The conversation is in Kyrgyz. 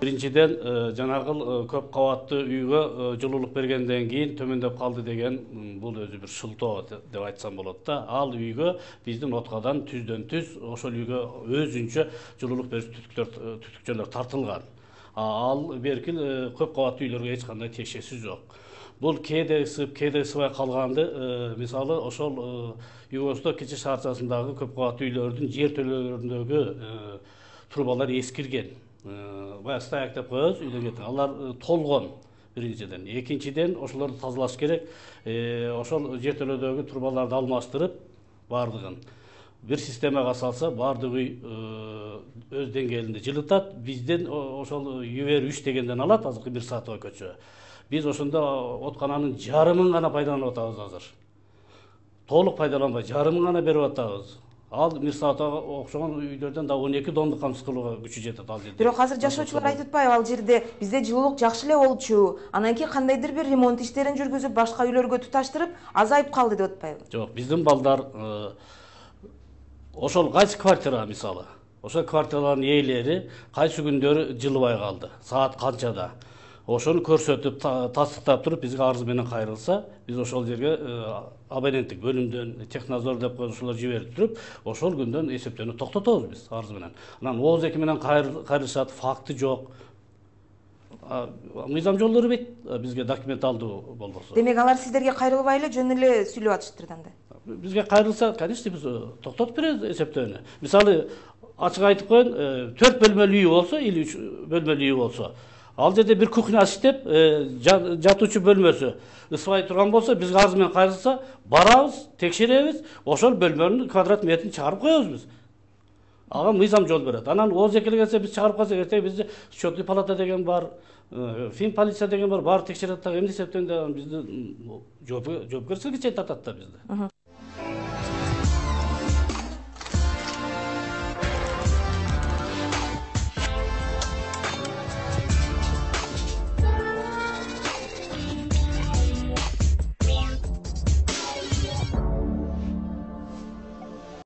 Биринчиден жанагыл көп кабаттуу үйгө жылуулук бергенден кийин төмөндөп калды деген бул өзү бир шылтоо деп айтсам болот да. Ал үйгө биздин откадан түздөн түз ошол үйгө өзүнчө жылуулук берүүчү түтүкчөлөр тартылган. Ал беркил көп кабаттуу үйлөргө эч кандай тиешеси жок. Бул кээде ысып, кээде ысыбай калганды мисалы ошол Югослав кичи шаарчасындагы көп кабаттуу үйлөрдүн жер төлөлөрүндөгү трубалар эскирген. Баягы стояк деп коебуз, үйдөн кеткен. Алар толгон биринчиден. Экинчиден ошолорду тазалаш керек. Ошол жер төлөөдөгү трубаларды алмаштырып бардыгын бир системага салса, бардык үй өз деңгээлинде жылытат. Бизден ошол Ювер 3 дегенден алат, азыркы бир саатга көчө. Биз ошондо откананын жарымын гана пайдаланып атабыз азыр. Толук пайдаланбай, жарымын гана берип атабыз. Ал Мирсаатага окшогон үйлөрдөн да 12 тонну камсыз кылууга күчү жетет ал жерде. Бирок азыр жашоочулар айтып атпайбы, ал жерде бизде жылуулук жакшы эле болчу, анан кийин кандайдыр бир ремонт иштерин жүргүзүп, башка үйлөргө туташтырып, азайып калды деп атпайбы? Жок, биздин балдар ошол кайсы квартира мисалы, ошол квартиралардын ээлери кайсы күндөрү жылыбай калды, саат канчада. Ошону көрсөтүп, тастыктап туруп бизге арыз менен кайрылса, биз ошол жерге абоненттик бөлүмдөн технадзор деп ошолор жиберип туруп, ошол күндөн эсептөөнү токтотобуз биз арыз менен. Анан ооз эки менен кайрылышат, факты жок. Мыйзам жолдору бит бизге документалдуу болбосо. Демек алар сиздерге кайрылбай эле жөн эле сүйлөп атыштыр анда. Бизге кайрылса, конечно, биз токтотуп беребиз эсептөөнү. Мисалы, ачык айтып коеюн, 4 бөлмөлүү үй болсо или 3 бөлмөлүү үй болсо, ал жерде бир кухня иштеп, жатуучу бөлмөсү ысыбай турган болсо, бизге арыз менен кайрылса, барабыз, текшеребиз, ошол бөлмөнүн квадрат метрин чыгарып коебуз биз. Ага мыйзам жол берет. Анан ооз эки келсе биз чыгарып калсак, эртең бизде счетный палата деген бар, фин полиция деген бар, баары текшерет да, эмне эсептен да бизди жоопкерчиликке чейин тартат да бизди.